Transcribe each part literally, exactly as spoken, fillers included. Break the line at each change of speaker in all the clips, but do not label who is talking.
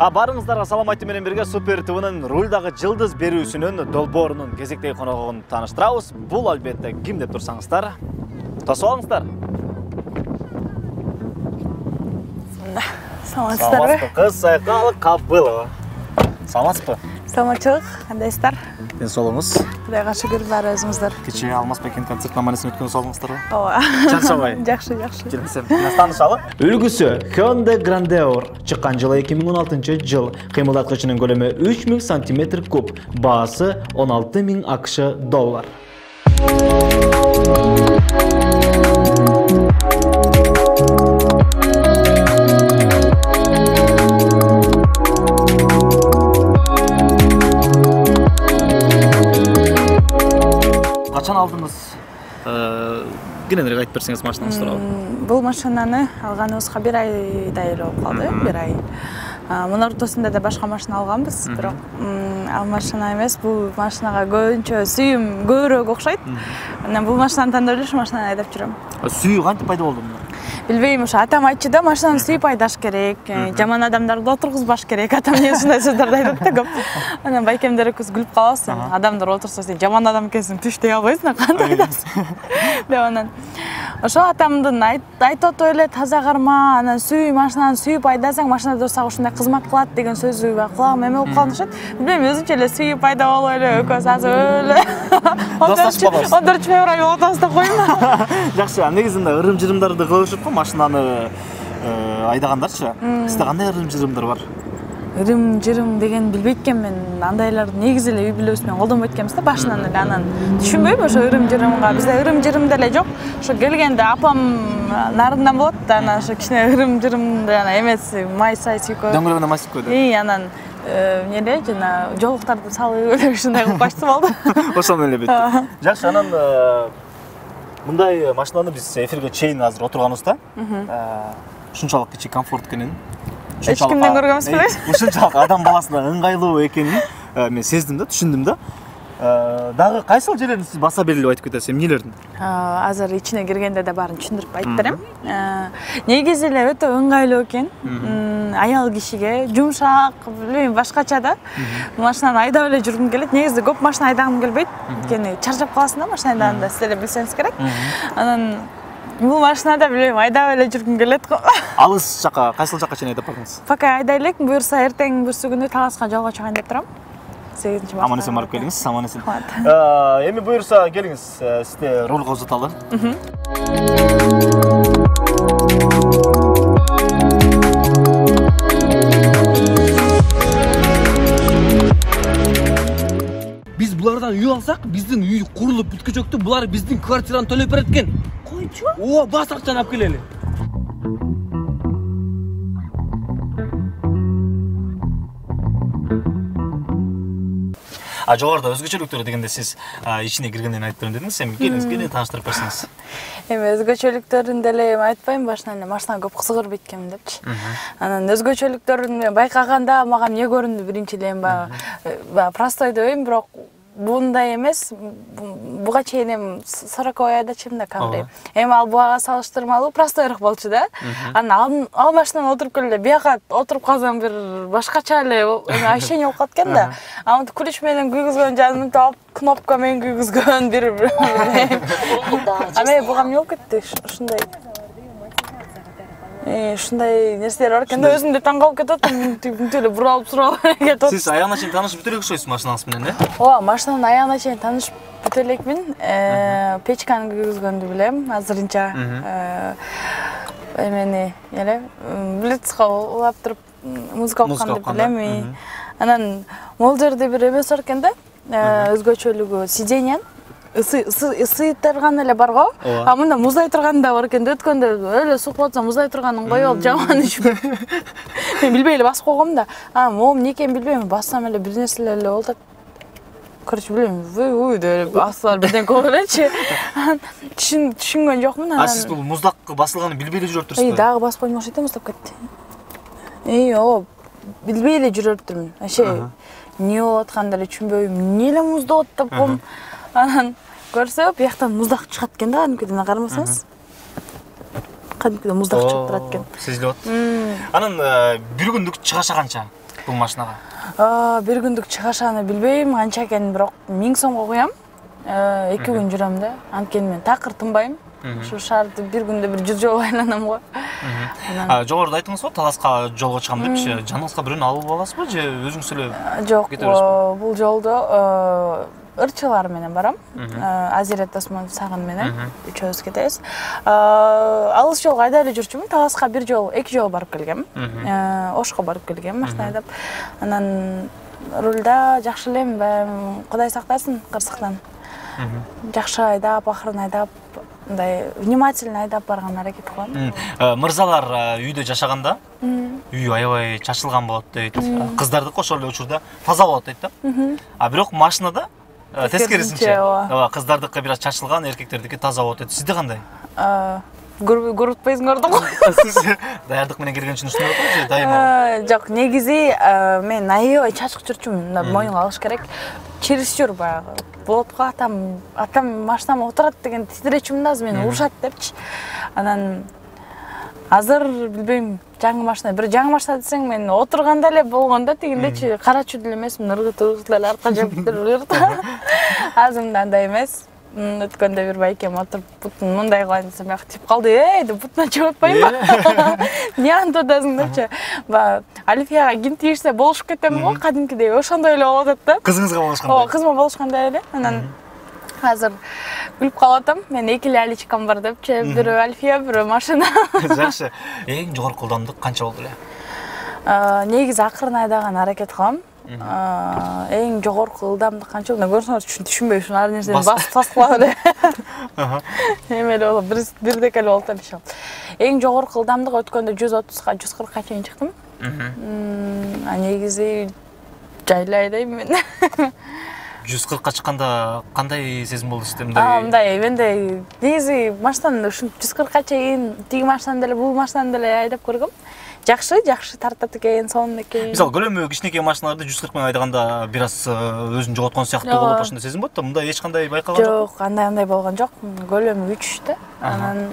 А барыңыздарга салам айтуу менен бирге Супер ТВнын рульдагы жылдыз берүүсүнүн долбоорунун кезектеги коногун тааныштырабыз. Бул албетте ким деп турсаңыздар, тосуп алыңыздар.
Саламатсыздарбы?
Кыз Сайкал Кабылова. Саламатсызбы?
Саламатчылык, кандайсыздар?
Ден соолугуңуз?
Кудайга шүгүр, баары өзүңүздөр.
Кечээ Алмазбектин концерт наманесин өткөн соолуңуздарбы?
Ооба.
Чарчабай.
Жакшы, жакшы.
Келсем, таанышалы. Үлгүсү Hyundai Grandeur чыккан жылы эки миң он алтынчы жыл. Кыймылдаткычынын көлөмү үч миң сантиметр куб, баасы он алты миң акш доллар. Качан алдыңыз? Кененирээк айтып берсеңиз машинаңыз тууралуу.
Бул машинаны алганыбызга бир айдай эле болуп калды, бир ай. Мунун ортосунда да башка машина алганбыз, бирок ал машина эмес, бул машинага көбүнчө сүйүм көбүрөөк окшойт. Анан бул машинаны тандап эле ушу машинаны айдап жүрөм.
Сүйүү кантип пайда болду?
Билбейм, ошо атам айтчу да, машинаны сүйүп айдаш керек, жаман адамдарды отургузбаш керек. Атам эмне ушундай сөздөрдү айтат да көп. Анан байкемдер экөөбүз күлүп калабыз. Адамдар отурса сен жаман адам экенсиң, түш дей албайсың, кантип айтасың деп анан. Ошо атамдын айтып атып эле таза карма, анан сүй машинаны сүйүп айдасаң, машина дурсак ушундай кызмат кылат деген сөзү кулагыма эме болуп калышат. Билбейм, өзүнчө эле сүйүп айдап алып эле экөөбүз азыр эле он төртүнчү февраль болуп атабыз да коеюн.
Жакшы, негизинде ырым-жырымдарды кылышып машинаны айдагандарчы. Сизде кандай ырым-жырымдар бар?
Ырым-жырым деген билбейт экенмин. Андайларды негизи эле үй бүлөбүз менен колдонбойт экенбиз да башынан эле. Анан түшүнбөйм ошо ырым-жырымга. Бизде ырым-жырым деле жок. Ошо келгенде апам нарындан болот да, анан ошо кичине ырым-жырым жана эмес, май-сай сүйкөп.
Дөңгөлөгүнө май сүйкөдү.
И анан эмне жана жолуктарды салып эле ушундай кылып качты болду.
Ошону эле бет. Жакшы, анан мындай машинаны биз эфирге чейин азыр отурганыбызда ушунчалык ичи комфорт экенин,
эч кимден көргөнбүз беле?
Ушунчалык адам баласына ыңгайлуу экенин мен сездим да, түшүндүм да. Дагы кайсыл жерлерин сиз баса берилип айтып кетесиз, эмнелердин?
Азыр ичине киргенде да баарын түшүндүрүп айтып берем. Негизи эле өтө ыңгайлуу экен. Аял кишиге жумшак, билбейм, башкача да. Машинаны айдап эле жүргүм келет. Негизи көп машина айдагым келбейт. Анткени чарчап каласың да машина айдаганда, сиз эле билсеңиз керек. Анан бул машинада билбейм, айдап эле жүргүм келет.
Алыс жака, кайсыл жака чейин айдап бардыңыз?
Пока айдай элек, буюрса эртең бүрсү күнү Таласка жолго чыгайын деп турам. сегизинчи марта.
Аман эсен барып келиңиз, аман эсен. Эми буюрса келиңиз, сизде рулга узаталы.
Биз булардан үй алсак, биздин үй курулуп бүткүчөктү, булар биздин квартираны төлөп берет экен.
Койчу?
О, бас акчаны алып келели.
А жогоруда өзгөчөлүктөр дегенде сиз ичине киргенден айтып берем дедиңиз, эми келиңиз, кенен тааныштырып берсеңиз.
Эми өзгөчөлүктөрүн деле эми айтпайм, башынан эле машинага көп кызыгып эткенмин депчи. Анан өзгөчөлүктөрүн байкаганда мага эмне көрүндү биринчиден, баягы простой дебейм, бирок бундай эмес, буга чейин эми сороковой айдачым да Камри. Эми ал буга салыштырмалуу простойрок болчу да. Анан ал машинаны отуруп келе бияка отуруп калсам бир башкача эле ощущение болуп калат экен да. Аны ключ менен күйгүзгөн жанын топ, кнопка менен күйгүзгөн бир. Аме буга эмне болуп кетти? Ушундай Э, ушундай нерселер бар экен да, өзүм да таң калып кетип атам, тип эле буралып суралып кетип атам.
Сиз аягына чейин таанышып бүтө элек окшойсуз машинаңыз менен, э?
Ооба, машинанын аягына чейин таанышып бүтө элекмин. Печканы күйгүзгөндү билем, азырынча. Эмени, эле, блицка улап туруп музыка окуганды билем. Анан могул жерде бир эмеси бар экен да, өзгөчөлүгү сиденьян. Ысый турган эле бар го. А мында муздай турган да бар экен. Өткөндө эле сук болсо муздай турганын коюп алып жаман ичип. Мен билбей эле басып койгом да. А, мом эмне экенин билбейм, бассам эле бир нерселер эле болуп атат. Короче, билбейм, уй-уй деп басылар бирден коюп элечи. Түшүнгөн жокмун.
А сиз бул муздак басылганын билбей эле жүрүп турсузбу?
Эй, дагы басып коймок окшойт, муздап кетти. Эй, ооба, билбей эле жүрүп турмун. Вообще эмне болуп атканын деле түшүнбөйм. Эмне эле муздап атып ком. Анан көрсө, бияктан муздак чыгат экен да, кадимкиден карамасаңыз. Кадимкиден муздак чыгып турат экен.
Сезилип атат. Анан бир күндүк чыгаша канча? бул машинага?
Бир күндүк чыгашаны билбейм, канча экенин, бирок миң сомго коям. эки күн жүрөм да. Анткени мен такыр тынбайм. Ушу шаарды бир күндө бир жүз жолу айланам го.
Жогоруда айттыңыз го, Таласка жолго чыгам депчи. Жаныңызга бирөөнү алып аласызбы же өзүңүз эле?
Жок, бул жолдо ырчылар менен барам. Азирет Досмон Сагын менен үчөөбүз кетебиз. Алыс жолго айдап эле жүрчүмүн. Таласка бир жол, эки жолу барып келгем. Ошко барып келгем машина айдап. Анан рулда жакшы элем, Кудай сактасын кырсыктан. Жакшы айдап, акырын айдап, мындай внимательно айдап барган аракет кылам.
Мырзалар үйдө жашаганда үй аябай чачылган болот дейт. Кыздардыкы ошол эле учурда таза болот дейт да. А бирок машинада тескерисинче. Ооба, кыздардыкы бир аз чачылган, эркектердики таза болот дейт. Сизде кандай?
Көрүппөйсүңөр да го.
Сиз даярдык менен келген үчүн ушундай болот же дайыма?
Жок, негизи мен аябай чачык жүрчүмүн. Моюнга алыш керек. Чересчур баягы. Болот го, атам, атам машинама отурат деген титиречүмүн да, азыр мени урушат депчи. Анан азыр билбейм, жаңы машина, бир жаңы машина десең мен отурганда эле болгондо тигиндечи карачу деле эмесмин, ыргыт-ыргыт эле арка жаптыр ыргыт. Азыр мындай эмес. Өткөндө бир байкем отуруп бутун мындай кылайын десем, ак тип калды, эй деп бутуна чыгып атпайбы? Эмне антип атасың депчи. Баягы Альфияга ким тийишсе болушуп кетем го, кадимкидей ошондой эле болуп атат да.
Кызыңызга болушкандай.
Ооба, кызыма болушкандай эле. Анан азыр күлүп калып атам. Мен эки эле аличкам бар депчи, бирөө Альфия, бирөө машина.
Жакшы. Эң жогорку ылдамдык канча болду эле?
Негизи акырын айдаган аракет кылам. Эң жогорку ылдамдык канча болду? Көрсөңүз түшүнбөй ушун ар нерсени басып таскылап эле. Эме эле болуп, бир дека эле болуп атат. Эң жогорку ылдамдык өткөндө жүз отузга, жүз кыркка чейин чыктым. А негизи жайлы айдайм мен.
жүз кыркка чыкканда кандай сезим болду сизде?
Мындай, менде негизи машинаны ушун жүз кыркка чейин тиги машинаны деле, бул машинаны деле айдап көргөм. Жакшы, жакшы тартат экен, сонун экен.
Мисалы, көлөмү кичинекей машиналарды жүз кырк менен айдаганда бир аз өзүн жоготкон сыяктуу болуп ошондой сезим болот да. Мында эч кандай байкалган жок?
Жок, андай-андай болгон жок. Көлөмү үч да. Анан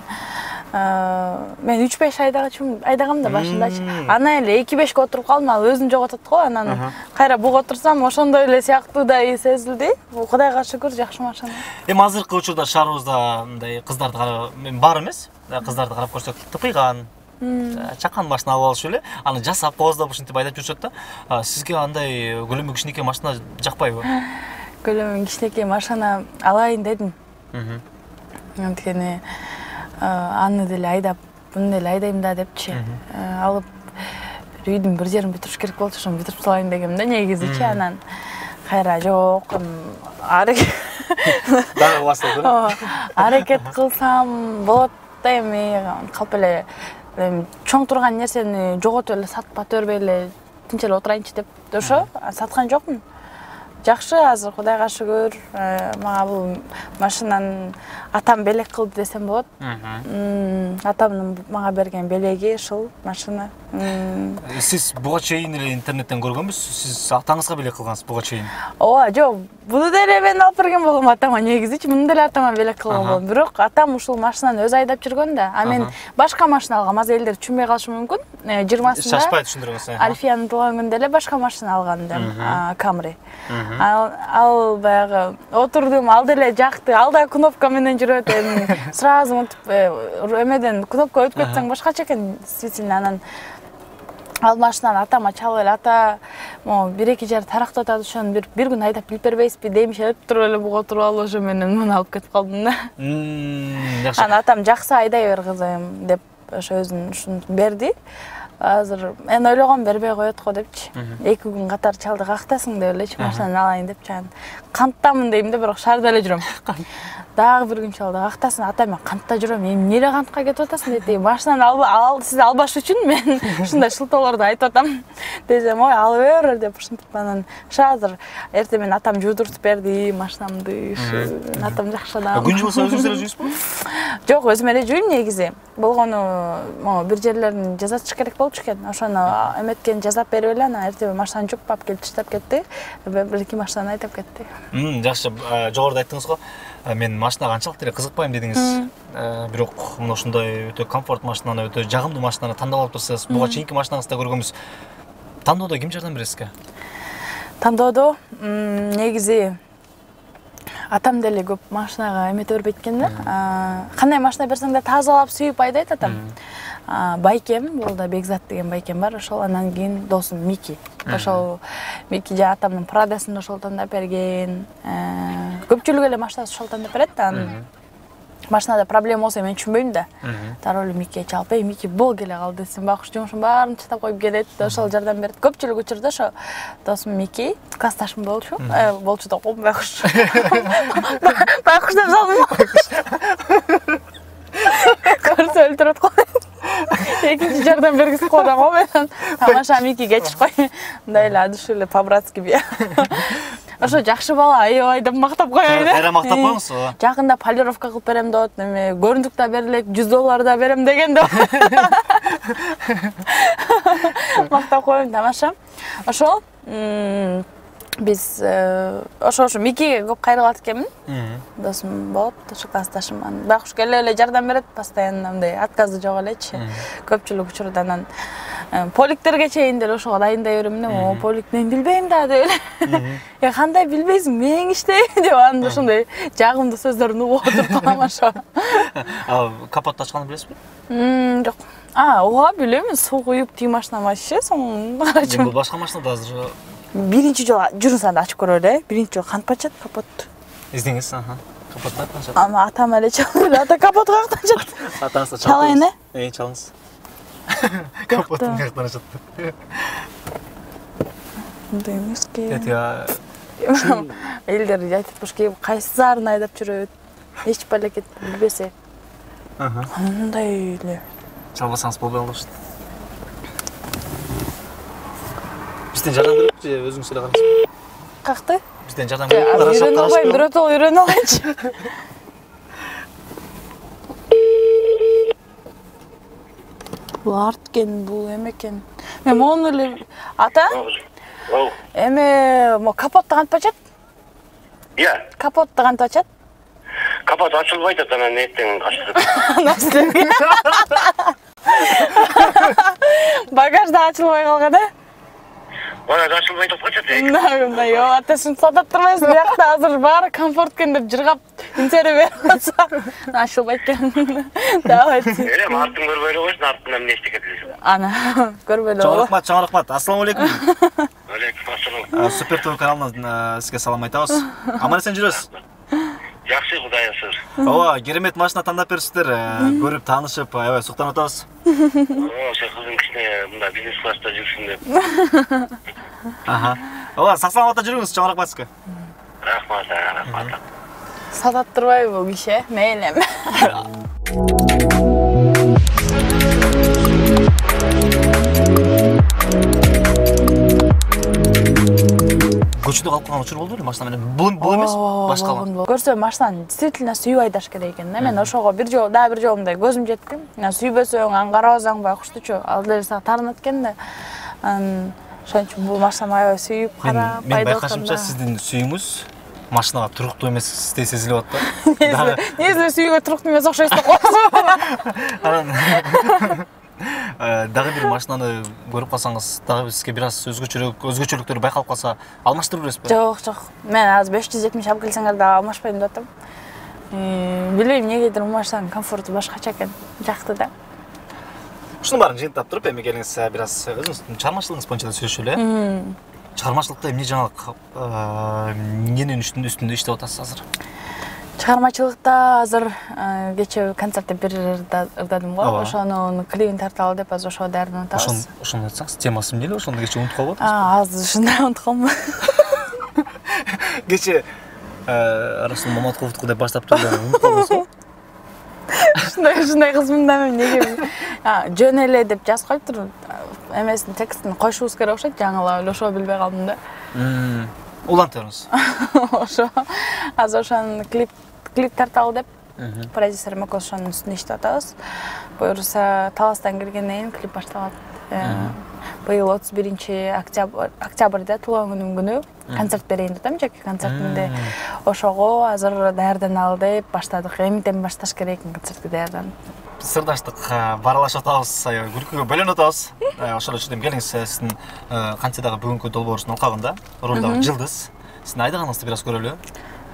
мен үч беш айдагачым, айдагам да башындачы. Ана эле эки бешке отуруп калдым, ал өзүн жоготот го. Анан кайра буга отурсам, ошондой эле сыяктуудай сезилди. Кудайга шүгүр, жакшы машина.
Эми азыркы учурда шаарыбызда мындай кыздарды карап, мен бар эмес, кыздарды карап көрсөк, тыпыйган, чакан машина алып алышып эле, аны жасап кооздоп ушинтип айдап жүрүшөт да. Сизге андай көлөмү кичинекей машина жакпайбы?
Көлөмү кичинекей машина алайын дедим. Анткени аны деле айдап, буну деле айдайм да депчи. Алып бир үйдүн бир жерин бүтүрүш керек болчу, ошону бүтүрүп салайын дегем да негизичи. Анан кайра жок, аракет
дагы басылды.
Аракет кылсам болот да, эми калп эле чоң турган нерсени жоготуп эле сатып бербей эле тинч эле отурайынчы деп ошо саткан жокмун. Жакшы, азыр Кудайга шүгүр, мага бул машинаны атам белек кылды десем болот. Атамдын мага берген белеги ушул машина.
Сиз буга чейин эле интернеттен көргөнбүз, сиз атаңызга белек кылгансыз буга чейин.
Ооба, жок, буну деле мен алып берген болом атама, негизичи муну деле атама белек кылган болом. Бирок атам ушул машинаны өзү айдап жүргөн да. А мен башка машина алгам, азыр элдер түшүнбөй калышы мүмкүн. жыйырмасында
Шашпай түшүндүрүңүз.
Альфиянын туулган күнүндө эле башка машина алган да, Camry. Ал баягы отурдум, ал деле жакты, ал да кнопка менен жүрөт, эми сразу мынтип эмеден кнопка өтүп кетсең башкача экен, действительно. Анан ал машинаны атама чалып эле, ата могу бир-эки жер тарактап атат, ошону бир бир күн айдап билип бербейсизби деймишип туруп эле буга отуруп алып ошо менен муну алып кетип калдым да.
Жакшы.
Анан атам жакшы айдай бер кызым деп ошо өзүн ушуну берди. Азыр мен ойлогом бербей коет го депчи. эки күн катар чалды, кактасың деп элечи машинаны алайын депчи. Канттамын дейм да, бирок шаарда эле жүрөм. Дагы бир күн чалды, кактасын, ата мен кантта жүрөм, эмне эле кантка кетип атасың дейт. Машинаны ал сиз албаш үчүн мен ушундай шылтоолорду айтып атам десем, ой алып бер деп ушинтип. Анан азыр эртең менен атам жуудуртуп берди машинамды. Атам жакшы адам.
Күн жумаса өзүңүз эле жуйсузбу?
Жок, өзүм эле жуйм негизи. Болгону могу бир жерлерин жазатыш керек болчу экен. Ошону эметкен жазап берип эле, анан эртең машинаны жууп алып келип таштап кетти. Бир-эки машинаны айдап кетти.
Жакшы, жогоруда айттыңыз го, мен машинага анчалык эле кызыкпайм дедиңиз. Бирок мына ушундай өтө комфорт машинаны, өтө жагымдуу машинаны тандап алып турсаңыз, буга чейинки машинаңызда көргөнбүз. Тандоодо ким жардам берет сизге?
Тандоодо негизи атам деле көп машинага эмете бербейт экен да. Кандай машина берсең да тазалап, сүйүп айдайт атам. Байкем, бул да Бекзат деген байкем бар, ошол анан кийин досум Мики. Ошол Мики жа атамдын Прадасын ошол тандап берген. Көпчүлүк эле машинасы ошол тандап берет да. Машинада проблема болсо мен түшүнбөйм да. Дароо эле Микиге чалып, "Эй, Мики, бол келе кал" десем, байкуш жумушун баарын таштап коюп келет. Ошол жардам берет. Көпчүлүк учурда ошо досум Мики, классташым болчу. Э, болчу да койм, байкуш. Байкуш деп салдым. Көрсө өлтүрөт го. Экинчи жардам бергиз кода го мен. Тамаша Мики кечип кой. Мындай эле адыш эле по-братски бия. Ошо жакшы бала, аябай деп мактап коёюн.
Кайра мактап коюңуз.
Жакында полировка кылып берем деп, эме көрүндүк да берилет, жүз доллар да берем деген деп. Мактап коёюн, тамаша. Ошол биз ошо ошо Микиге көп кайрылат экенмин. Досум болуп, ошо классташым. Байкуш келе эле жардам берет, постоянно мындай отказы жок элечи. Көпчүлүк учурда анан поликтерге чейин деле ошого дайындай берем. О, полик мен билбейм да деп эле. Я кандай билбейсиң, мен иштейм деп анда ошондой жагымдуу сөздөрүн угуп отурдум ошо.
А капотты ачканды билесизби?
Мм, жок. А, ооба билем, суу куюп тиги машинама ишсе, соң карачым.
Бул башка машинада азыр
Биринчи жолу жүрүн ачып көрөлү, биринчи жолу кантип ачат капотту?
Издеңиз, аха. Капотту ачат.
Ама атам эле чалып, ата капотту каяктан ачат?
Атаңыз да
чалайын, э?
Эй, чалыңыз. Капотту каяктан ачат?
Мындай эмеске.
Этига
Элдер айтып башка кайсы зарын айдап жүрөт. Эч балекет билбесе.
Аха.
Мындай эле.
Чалбасаңыз болбой калыш. Бизден жардам берип же өзүңүз эле карайсызбы?
Какты?
Бизден жардам берип карашып
Үйрөнүп албайм, биротол үйрөнүп алайынчы. Бул арт экен, бул эме экен. Мен мону эле ата? Эме, мо капотту кантип ачат?
Иә.
Капотту кантип ачат?
Капот ачылбайт ата, анан эртең ачылып.
Насилге. Багажда ачылбай калган, э?
Багаж ачылбайт деп качат.
Мындай, о, атасын сатап турбайсың, биякта азыр баары комфорт экен деп жыргап интере берип атса, ачылбайт экен. Давай.
Элем артын көрбөй эле койсун, артында эмне иштеп кетесиң.
Ана, көрбөй эле.
Чоң рахмат, чоң рахмат. Ассаламу алейкум.
Алейкум ассалам.
Супер ТВ каналынан сизге салам айтабыз. Аман эсен жүрөсүз.
Жакшы, Кудайга шүгүр.
Ооба, керемет машина тандап берипсиздер. Көрүп, таанышып, аябай суктанып атабыз.
Оо, сен кызың кичине мында бизнес класста жүрсүн деп.
Аха. Ооба, сак саламатта жүрүңүз, чоң рахмат сизге.
Рахмат, рахмат.
Сатап турбайбы бул киши? Мейлем.
Көчөдө калып калган учур болду беле машина менен? Бул бул эмес, башкалар.
Көрсө машинаны действительно сүйүп айдаш керек экен. Мен ошого бир жолу, дагы бир жолу мындай көзүм жетти. Сүйбөсөң, аңгарабасаң байкуштучу, ал деле сага таарынат экен да. Анан ошон үчүн бул машинаны аябай сүйүп карап,
Мен байкашымча сиздин сүйүүңүз машинага туруктуу эместей сезилип атты.
Дагы негизи сүйүүгө туруктуу эмес окшойсуз да койсуң.
Анан дагы бир машинаны көрүп калсаңыз, дагы сизге бир аз өзгөчөлүк, өзгөчөлүктөр байкалып калса, алмаштырып бересизби?
Жок, жок. Мен азыр беш жүз жетимиш алып келсеңер да алмашпайм деп атам. Билбейм, негедир бул машинанын комфорту башкача экен. Жакты да.
Ушунун баарын жыйынтап туруп, эми келиңиз бир аз өзүңүздүн чыгармачылыгыңыз боюнча да сөйлөшөлү, э? Чыгармачылыкта эмне жаңылык, эмненин үстүндө иштеп атасыз азыр?
Чыгармачылыкта азыр кечээ концертте бир ырдадым го. Ошонун клипин тарта алып деп азыр ошого даярданып атабыз.
Ошону айтсаңыз, темасы эмне эле ошондо кечээ унутуп калып
атасыз? А, азыр ушундай унутуп калдым.
Кечээ Расул Маматковду деп баштап турду, унутуп калдыңызбы?
Ушундай ушундай кызмын да мен неге? А, жөн эле деп жазып коюптур. Эмесин текстин койшубуз керек окшойт, жаңылап эле ошого билбей калдым да.
Улантыңыз.
Ошо азыр ошонун клип клип тарталы деп продюсерим экөөбүз ошонун үстүндө иштеп атабыз. Буюрса Таластан киргенден кийин клип башталат. Быйыл отуз биринчи октябрда туулган күнүм күнү концерт берейин деп атам, жеке концертимде. Ошого азыр даярданалы деп баштадык. Эмтен башташ керек концертке даярданып.
сырдаштык баралашып атабыз, күлкүгө бөлөнүп атабыз. Ошол үчүн келиңиз, сиздин кантсе дагы бүгүнкү долбоорубуздун алкагында ролдогу Жылдыз. Сиздин айдаганыңызды бир аз көрөлү.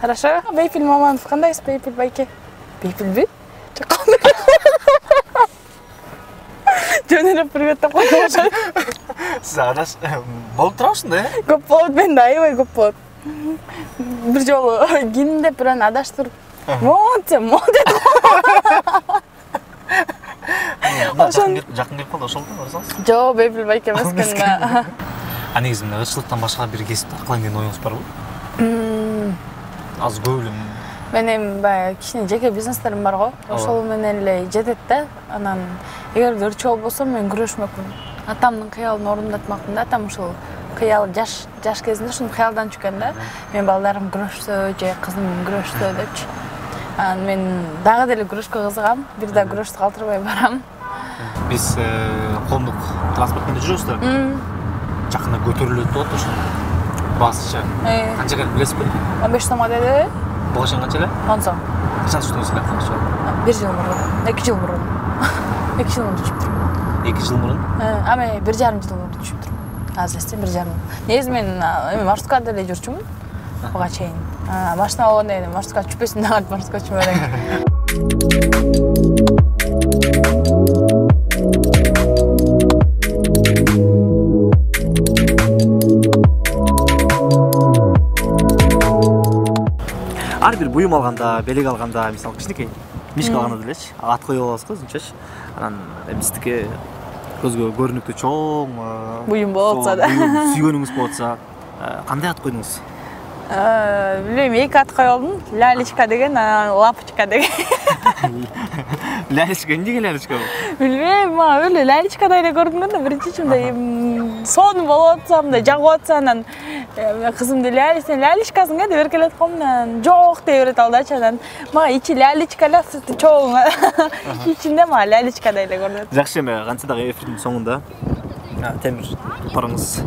Хорошо. Бейпил Маманов кандайсыз, Бейпил байке? Бейпилби? Жөнүнө привет деп коюшат.
Сиз адаш болуп турабыз да?
Көп болот, мен да аябай көп болот. Бир жолу кимдеп бир аны адаштырып, "Монте, монте" деп.
Жакын келип калды, ошолду барсаңыз.
Жок, Бейпил байке эмес экен.
А негизи мына ырчылыктан башка бир кесипти кылайын деген оюңуз барбы? Аз көп эле.
Мен эми баягы кичине жеке бизнестерим бар го. Ошол менен эле жетет да. Анан эгерде ырчы болбосом мен күрөшмөкмүн. Атамдын кыялын орундатмакмын да. Атам ушул кыял жаш жаш кезинде ушуну кыялдан чыккан да. Мен балдарым күрөшсө же кызым күрөшсө депчи. Анан мен дагы деле күрөшкө кызыгам. Бир да күрөштү калтырбай барам.
Биз коомдук транспорт менен жүрөбүз да. Жакында көтөрүлөт деп атат ошол. Басчы. Канча келип билесизби?
он беш сомго деди.
Багышың канча эле?
он сом.
Качан түштүңүз ошол?
бир жыл мурун. эки жыл мурун. эки жыл мурун түшүп турмун.
эки жыл мурун?
А мен бир жарым жыл мурун түшүп турмун. Азыр эстем бир жарым. Негизи мен эми маршруткада деле жүрчүмүн. Буга чейин. Машина алганда эле маршрутка түшпөсүн деп маршрутка түшүп элем.
Ар бир буюм алганда, белек алганда, мисалы кичинекей мишка алганда делечи, ат коюп алабыз го өзүнчөчү. Анан биздики көзгө көрүнүктүү чоң
буюм болуп атса да.
Сүйгөнүңүз болуп атса, кандай ат койдуңуз?
Билбейм, эки ат коюп алдым. Лялечка деген, анан Лапочка деген.
Лялечка, эмнеге Лялечка бул?
Билбейм, мага өлө Лялечкадай эле көрүнгөн да, биринчи мындай сонун болуп атса, мындай жагып атса, анан кызымды Ляли, сен Лялечкасың э деп эркелетип койдум, анан жок дей берет ал дачы, анан мага ичи Лялечка эле, сырты чоң. Ичинде мага Лялечкадай эле көрүнөт.
Жакшы, эми кантсе дагы эфирдин соңунда темир тупарыңыз,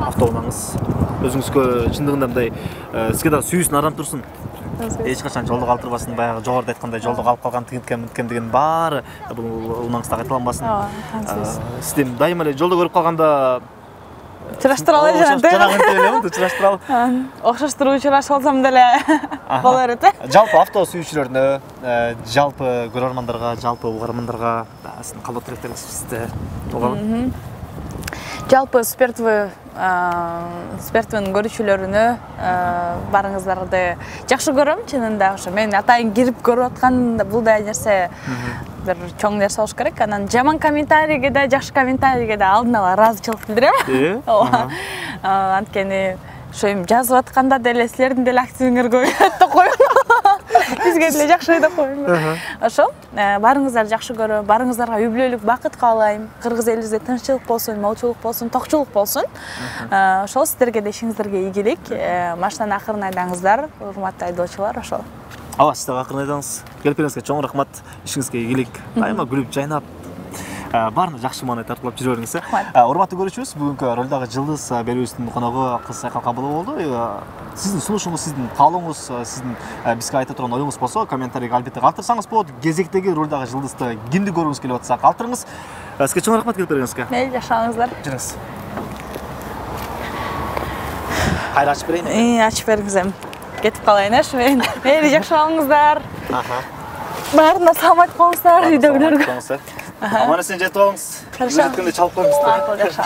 автоунааңыз өзүңүзгө чындыгында мындай сизге дагы сүйүүсүн арам турсун. Эч качан жолдо калтырбасын, баягы жогоруда айткандай жолдо калып калган тигинткем мынткем деген баары бул унаңызда кайталанбасын. Сизди дайыма эле жолдо көрүп калганда
чыраштыра алай жанагы.
Жанагы элеби, чыраштыра ал.
Окшоштуруу чыраш болсом деле боло берет э.
Жалпы авто сүйүүчүлөрүнө, жалпы көрөрмандарга, жалпы угармандарга сиздин калдоо тилектериңиз сизде болгон.
Жалпы Спиртвы Спиртвынын көрүүчүлөрүнө барыңыздарды жакшы көрөм, чынында ошо мен атайын кирип көрүп аткан бул да нерсе бир чоң нерсе болуш керек. Анан жаман комментарийге да, жакшы комментарийге да алдын ала ыраазычылык билдирем. Ооба. Анткени ошо эми жазып атканда деле силердин деле активиңер көбөйөт деп коем. Бизге деле жакшы деп коем. Ошол барыңыздарды жакшы көрөм, барыңыздарга үй бүлөлүк бакыт каалайм. Кыргыз элибизде тынччылык болсун, молчулук болсун, токчулук болсун. Ошол сиздерге да ишиңиздерге ийгилик. Машинаны акырын айдаңыздар, урматтуу айдоочулар, ошол.
Ооба, сиз дагы акырын айдаңыз. Келипиңизге чоң рахмат. Ишиңизге ийгилик. Дайыма күлүп жайнап баарына жакшы маанай тартуулап жүрө бериңиз. Урматтуу көрүүчүбүз, бүгүнкү ролдогу Жылдыз берүүбүздүн коногу кыз Айкал Кабылова болду. Сиздин сунушуңуз, сиздин каалооңуз, сиздин бизге айта турган оюңуз болсо, комментарийге албетте калтырсаңыз болот. Кезектеги ролдогу Жылдызды кимди көргүңүз келип атса, калтырыңыз. Сизге чоң рахмат келип бериңизге.
Мейли, жашаңыздар.
Жүрүңүз. Кайра ачып берейин.
Ии, ачып бериңиз эми. Кетип калайын эш мен. Мейли, жакшы болуңуздар. Аха. Баарына салам айтып коңуздар, үйдөгүлөргө.
Аман эсен жетип алыңыз.
Хорошо.
Жеткенде чалып коюңуз.
Жакшы.